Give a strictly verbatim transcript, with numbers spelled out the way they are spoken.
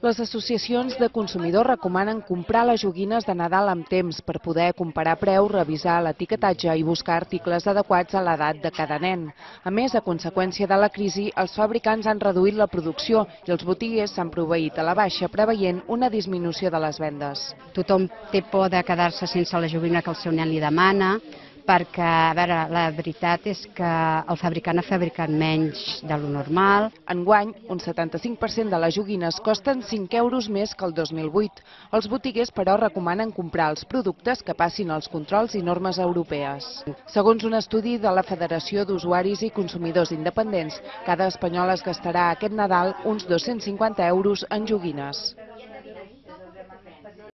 Les associacions de consumidors recomanen comprar les joguines de Nadal amb temps per poder comparar preus, revisar l'etiquetatge i buscar articles adequats a l'edat de cada nen. A més, a conseqüència de la crisi, els fabricants han reduït la producció i els botiguers s'han proveït a la baixa, preveient una disminució de les vendes. Tothom té por de quedar-se sense la joguina que el seu nen li demana, perquè, a veure, la veritat és que el fabricant ha fabricat menys de lo normal. Enguany, un setanta-cinc per cent de les joguines costen cinc euros més que el dos mil vuit. Els botiguers, però, recomanen comprar els productes que passin els controls i normes europees. Segons un estudi de la Federació d'Usuaris i Consumidors Independents, cada espanyol es gastarà aquest Nadal uns dos-cents cinquanta euros en joguines.